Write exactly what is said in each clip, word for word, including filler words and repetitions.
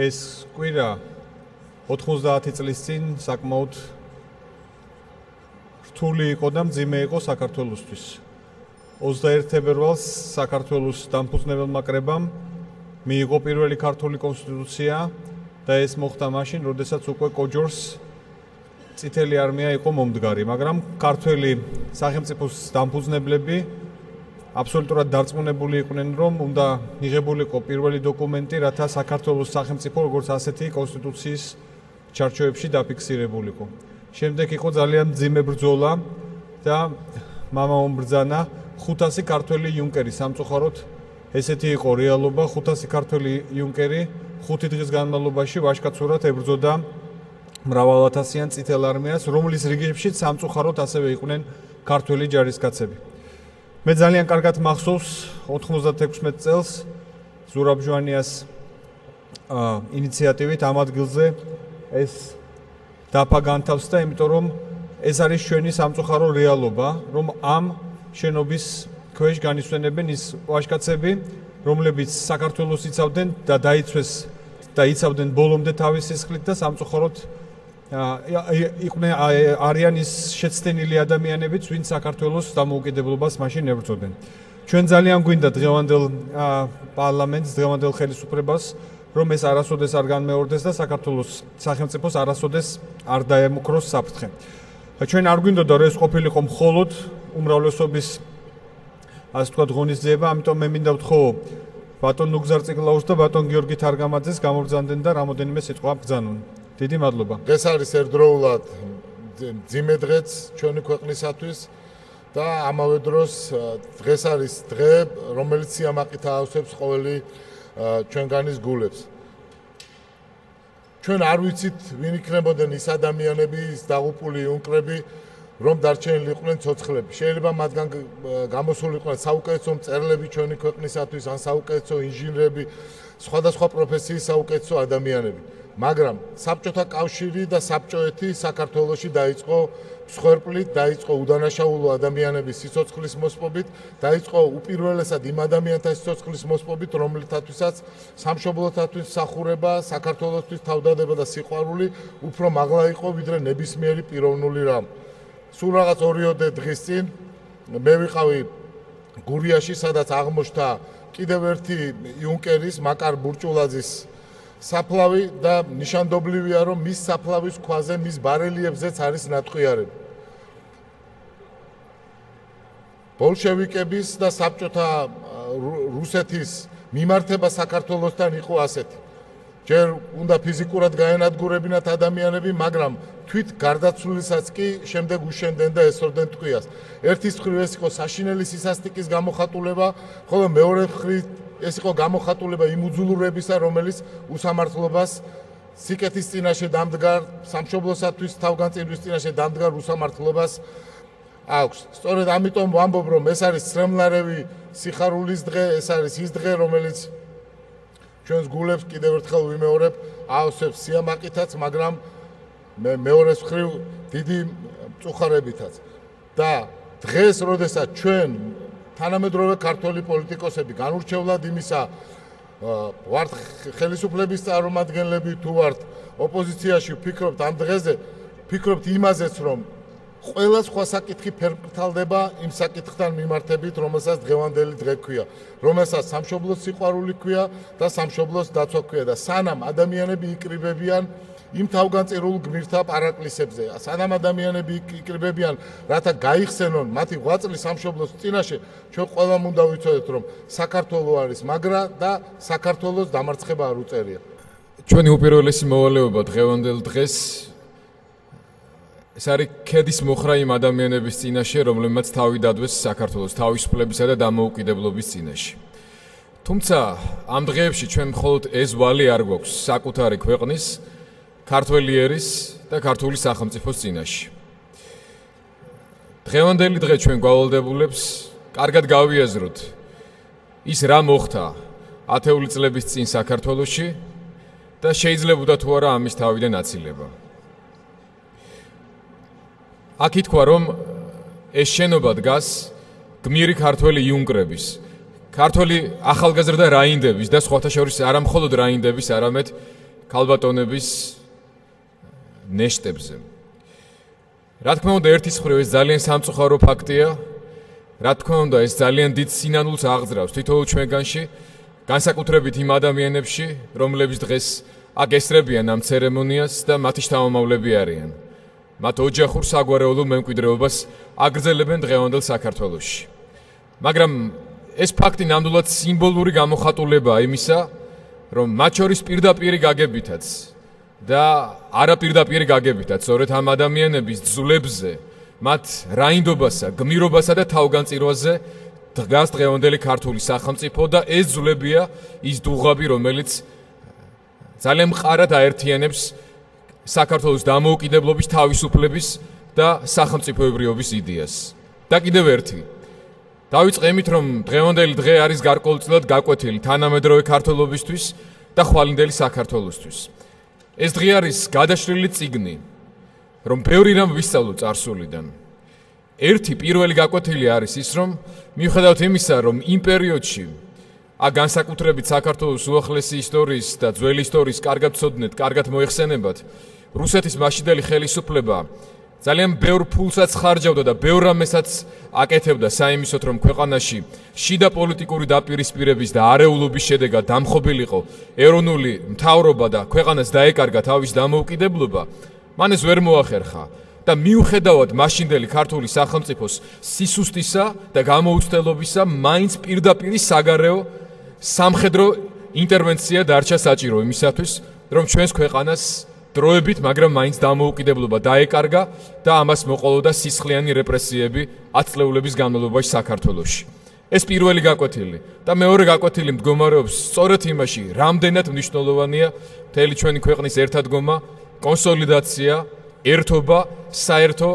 ეს კვირა ოთხმოცდაათი წლის წინ საკმაოდ რთული იყო და მძიმე იყო საქართველოსთვის. ოცდაერთი თებერვალს საქართველოს დამფუძნებელმა კრებამ მიიღო პირველი ქართული კონსტიტუცია და ეს მოხდა მაშინ, როდესაც უკვე კოჯორს წითელი არმია იყო მომდგარი, მაგრამ ქართველი სახელმწიფოს დამფუძნებლები აბსოლუტურად დარწმუნებული იყვნენ, რომ უნდა მიღებულიყო პირველი დოკუმენტი, რათა საქართველოს სახელმწიფო როგორც ასეთი კონსტიტუციის ჩარჩოებში დაფიქსირებულიყო. შემდეგ იყო ძალიან მძიმე ბრძოლა და მამაომ ბრძანა ხუთასი ქართველი იუნკერი სამწუხაროდ ესეთი იყო რეალობა, ხუთასი ქართველი იუნკერი ხუთი დღის განმავლობაში ვაჟკაცურად ებრძოდა მრავალათასიან წითელ არმიას, რომლის რიგებშიც სამწუხაროდ ასევე იყვნენ ქართველი ჯარისკაცები. მე ძალიან კარგად მახსოვს ოთხმოცდათექვსმეტ წელს ზურაბ ჟვანიას ინიციატივით ამ ადგილზე ეს დაფა განთავსდა, იმიტომ რომ ეს არის ჩვენი სამწუხარო რეალობა, რომ ამ შენობის ქვეშ განისვენებენ ის ვაჟკაცები, რომლებიც საქართველოს იცავდნენ და დაიცვეს და იცავდნენ ბოლომდე თავის სისხლით და სამწუხაროდ იყვნენ არიან ის შეცდენილი ადამიანებიც, ვინც საქართველოს დამოუკიდებლობას მაშინ ებრძოდნენ. ჩვენ ძალიან გვინდა დღევანდელ პარლამენტს, დღევანდელ ხელისუფლებას, რომ ეს არასოდეს არ განმეორდეს და საქართველოს სახელმწიფოს არასოდეს არ დაემუქროს საფრთხე. ჩვენ არ გვინდოდა რომ ეს ყოფილიყო მხოლოდ უმრავლესობის ასე ვთქვათ ღონისძიება, ამიტომ მე მინდა ვთხოვ ბატონ ნუგზარ წიგლაუს და ბატონ გიორგი თარგამაძეს გამოგზავნდნენ და რამოდენიმე სიტყვა ბრძანონ. დიდი მადლობა. ეს არის ერთდროულად მძიმე დღეც ჩვენი ქვეყნისათვის და ამავე დროს დღეს არის დღე, რომელიც სიამაყით აავსებს ყოველი ჩვენგანის გულებს. ჩვენ არ ვიცით, ვინ იქნებოდნენ ის ადამიანები, ის დაღუპული იუნკრები, რომ დარჩენილიყვნენ ცოცხლები. შეიძლება მათგან გამოსულიყვნენ საუკეთესო მწერლები ჩვენი ქვეყნისათვის, ან საუკეთესო ინჟინრები, სხვადასხვა პროფესიის საუკეთესო ადამიანები. მაგრამ საბჭოთა კავშირი და საბჭოეთი საქართველოში დაიწყო მსხვერპლით, დაიწყო უდანაშაულო ადამიანების სიცოცხლის მოსპობით, დაიწყო უპირველესად იმ ადამიანთა სიცოცხლის მოსპობით, რომლითათვისაც სამშობლოთათვის მსახურება, საქართველოსთვის თავდადება და სიყვარული უფრო მაღლა იყო, ვიდრე ნებისმიერი პიროვნული რამ. სულ რაღაც ორიოდე დღის წინ მე ვიყავი გურიაში, სადაც აღმოჩნდა კიდევ ერთი იუნკერის, მაკარ ბურჭულაძის საფლავი და ნიშანდობლივია, რომ მის საფლავის ქვაზე, მის ბარელიებზეც არის ნატყვიარები. ბოლშევიკების და საბჭოთა რუსეთის მიმართება საქართველოსთან იყო ასეთი. ჯერ უნდა ფიზიკურად გაენადგურებინათ ადამიანები, მაგრამ თვით გარდაცვლილსაც კი შემდეგ უშენდნენ და ესროდნენ ტყვიას. ერთის მხრივ ეს იყო საშინელი სისასტიკის გამოხატულება, ხოლო მეორე მხრივ ეს იყო გამოხატულება იმ უძულურებისა, რომელიც უსამართლობას სიკეთის წინაშე დამდგარ, სამშობლოსათვის თავგანწირვის წინაშე დამდგარ უსამართლობას აქვს. სწორედ ამიტომ ვამბობ, რომ ეს არის სრემლარევი სიხარულის დღე, ეს არის ის დღე, რომელიც ჩვენს გულებს კიდევ ერთხელ ვიმეორებ, აავსებს სიამაყითაც, მაგრამ მე მეორეს მხრივ დიდი მწუხარებითაც. და დღეს, როდესაც ჩვენ თანამედროვე ქართველი პოლიტიკოსები განურჩევლად იმისა ვართ ხელისუფლების წარმომადგენლები თუ ვართ ოპოზიციაში, ვფიქრობთ ამ დღეზე, ვფიქრობთ იმაზეც, რომ ყველა სხვა საკითხი ფერმკრთალდება იმ საკითხთან მიმართებით, რომელსაც დღევანდელი დღე ქვია, რომელსაც სამშობლოს სიყვარული ქვია და სამშობლოს დაცვა ქვია და სანამ ადამიანები იკრიბებიან იმ თავგანწირულ გმირთა პარაკლისებზე, სანამ ადამიანები იკრიბებიან, რათა გაიხსენონ მათი ღვაწლი სამშობლოს წინაშე, ჩვენ ყველამ უნდა ვიცოდეთ, რომ საქართველო არის მაგრა და საქართველოს დამარცხება არ უწერია. ჩვენი უპირველესი მოვალეობა დღევანდელ დღეს ეს არის ქედის მოხრა იმ ადამიანების წინაშე, რომლებმაც თავი დადვეს საქართველოს თავისუფლებისა და დამოუკიდებლობის წინაშე. თუმცა ამ დღეებში ჩვენ მხოლოდ ეს ვალი არ გვაქვს საკუთარი ქვეყნის, ქართველი ერის და ქართული სახელმწიფოს წინაშე. დღევანდელი დღე ჩვენ გვალდებულებს კარგად გავიაზროთ ის რა მოხდა ათეული წლების წინ საქართველოში და შეიძლებოდა თუ არა ამის თავიდან აცილება. აქ ითქვა, რომ ეს შენობა დგას გმირი ქართველი იუნკრების, ქართველი ახალგაზრდა რაინდების და სხვათა შორის არა მხოლოდ რაინდების, არამედ ქალბატონების ნეშტებზე. რა თქმა უნდა, ერთის მხრივ ეს ძალიან სამწუხარო ფაქტია. რა თქმა უნდა, ეს ძალიან დიდ სინანულს აღძრავს თითოეულ ჩვენგანში, განსაკუთრებით იმ ადამიანებში, რომლებიც დღეს აქ ესწრებიან ამ ცერემონიას და მათი შთამომავლები არიან. მათ ოჯახურ საგვარეულო მემკვიდრეობას აგრძელებენ დღევანდელ საქართველოში. მაგრამ ეს ფაქტი ნამდვილად სიმბოლური გამოხატულებაა იმისა, რომ მათ შორის პირდაპირი გაგებითაც და არაპირდაპირი გაგებითაც, სწორედ ამ ადამიანების ძვლებზე, მათ რაინდობასა, გმირობასა და თავგანწირვაზე დგას დღევანდელი ქართული სახელმწიფო და ეს ძვლებია ის დუღაბი, რომელიც ძალიან მყარად აერთიანებს საქართველოს დამოუკიდებლობის, თავისუფლების და სახელმწიფოებრიობის იდეას. და კიდევ ერთი. დავიწყე იმით, რომ დღევანდელი დღე არის გარკვეულწილად გაკვეთილი თანამედროვე ქართველობისთვის და ხვალინდელი საქართველოსთვის. ეს დღე არის გადაშლილი წიგნი, რომ ბევრი რამ ვისწავლო წარსულიდან. ერთი პირველი გაკვეთილი არის ის, რომ მიუხედავად იმისა, რომ იმ პერიოდში აქ განსაკუთრებით საქართველოს უახლესი ისტორიის და ძველი ისტორიის კარგად ვცოდნეთ, კარგად მოიხსენებათ, რუსეთის მაშინდელი ხელისუფლება ძალიან ბევრ ფულსაც ხარჯავდა და ბევრ რამესაც აკეთებდა საიმისოდ, რომ ქვეყანაში შიდა პოლიტიკური დაპირისპირების და არეულობის შედეგად დამხობილიყო ეროვნული მთავრობა და ქვეყანას დაეკარგა თავის დამოუკიდებლობა, მან ეს ვერ მოახერხა. და მიუხედავად მაშინდელი ქართული სახელმწიფოს სისუსტისა და გამოუცდელობისა, მაინც პირდაპირი საგარეო სამხედრო ინტერვენცია დარჩა საჭირო იმისათვის, რომ ჩვენს ქვეყანას დროებით, მაგრამ მაინც დამოუკიდებლობა დაეკარგა და ამას მოყოლოდა სისხლიანი რეპრესიები ათწლეულების განმავლობაში საქართველოში. ეს პირველი გაკვეთილი და მეორე გაკვეთილი მდგომარეობს სწორედ იმაში, რამდენად მნიშვნელოვანია მთელი ჩვენი ქვეყნის ერთადგომა, კონსოლიდაცია, ერთობა საერთო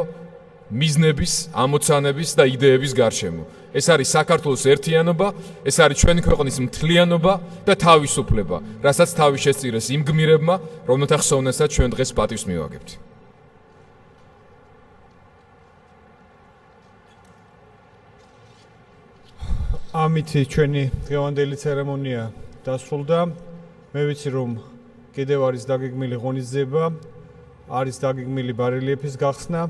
მიზნების, ამოცანების და იდეების გარშემო. ეს არის საქართველოს ერთიანობა, ეს არის ჩვენი ქვეყნის მთლიანობა და თავისუფლება, რასაც თავი შესწირეს იმ გმირებმა, რომელთა ხსოვნასაც ჩვენ დღეს პატივს მივაგებთ. ამით ჩვენი დღევანდელი ცერემონია დასრულდა. მე ვიცი, რომ კიდევ არის დაგეგმილი ღონისძიება, არის დაგეგმილი ბარელიეფის გახსნა.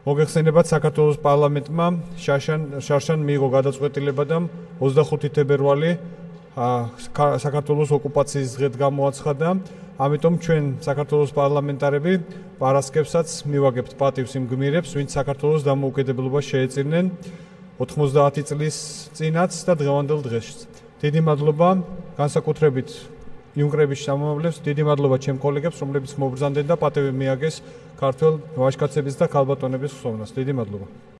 მოგეხსენებათ, საქართველოს პარლამენტმა შარშან შარშან მიიღო გადაწყვეტილება და ოცდახუთი თებერვალი საქართველოს ოკუპაციის დღედ გამოაცხადა. ამიტომ ჩვენ საქართველოს პარლამენტარები პარასკევსაც მივაგებთ პატივს იმ გმირებს, ვინც საქართველოს დამოუკიდებლობას შეეწირნენ ოთხმოცდაათი წლის წინაც და დღევანდელ დღეს. დიდი მადლობა განსაკუთრებით იუნკრების შთამომავლებს, დიდი მადლობა ჩემ კოლეგებს, რომლებიც მობრძანდნენ და პატივი მიაგეს ქართველ ვაჟკაცების და ქალბატონების ხსოვნას. დიდი მადლობა.